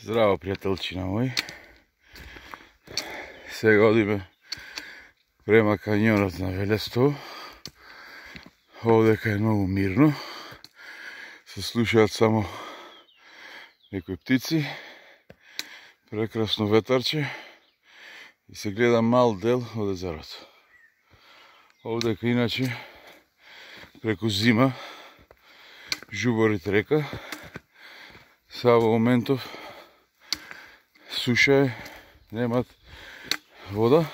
Здраво, пријателчина мој. Сега одиме према кањонот на Велестово. Овдека е многу мирно. Се слушаат само некои птици. Прекрасно ветарче. И се гледа мал дел од езерото. Овдека иначе преку зима жуборите река. Са во моментов суша е, немат вода.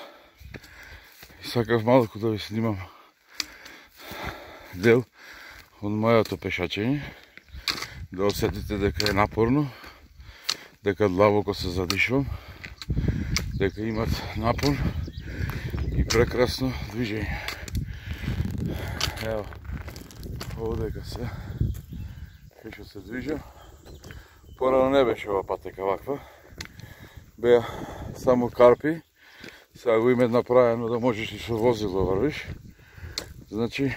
И сакав малку да ви снимам дел од мојото пешачење, да осетите дека е напорно, дека длабоко се задишувам, дека имат напор и прекрасно движење. Ево, овдека се кај што се движам. Порано не беше ова патека ваква. Беа само карпи. Сега го имат направено да можеш и со возило врвиш. Значи,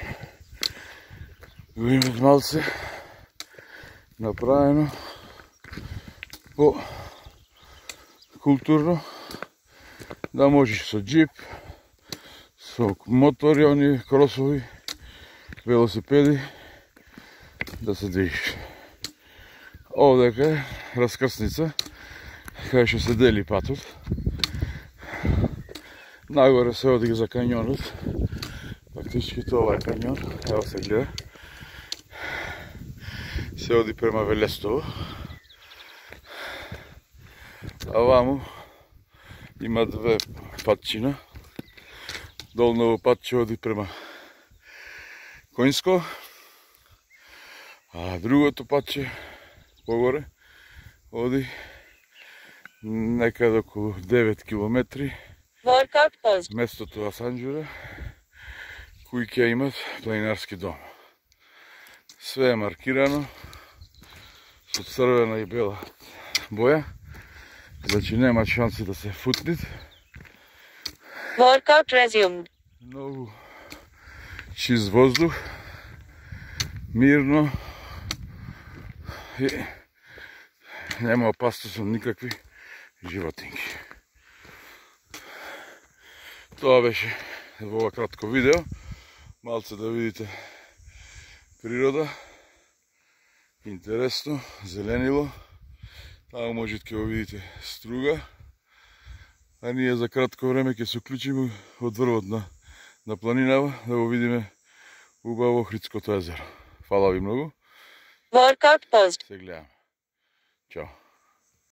го имат малце направено по културно, да можеш со джип, со мотори, они кросови, велосипеди, да се движиш. Овдека е раскрсница, кај што се дели патот. Нагоре се оди за кањонот. Фактички тоа е кањон, ево се гледа. Се оди према Велестово. А ваму има две патчина. Долново патче оди према Коњско, а другото патче погоре оди некаде околу 9 километри местото Асанџура, кои ќе имат планинарски дом. Све е маркирано со црвена и бела боја, значи нема шанси да се футнит. Workout resumed. Многу чист воздух, мирно и нема опасност од никакви животинки. Тоа беше во ова кратко видео. Малце да видите природа. Интересно, зеленило. Таму можете ќе го видите струга. А ние за кратко време ќе се уклучиме од врвот на планинава да го видиме убаво Охридското езеро. Фала ви многу. Workout paused. Се гледаме. Чао.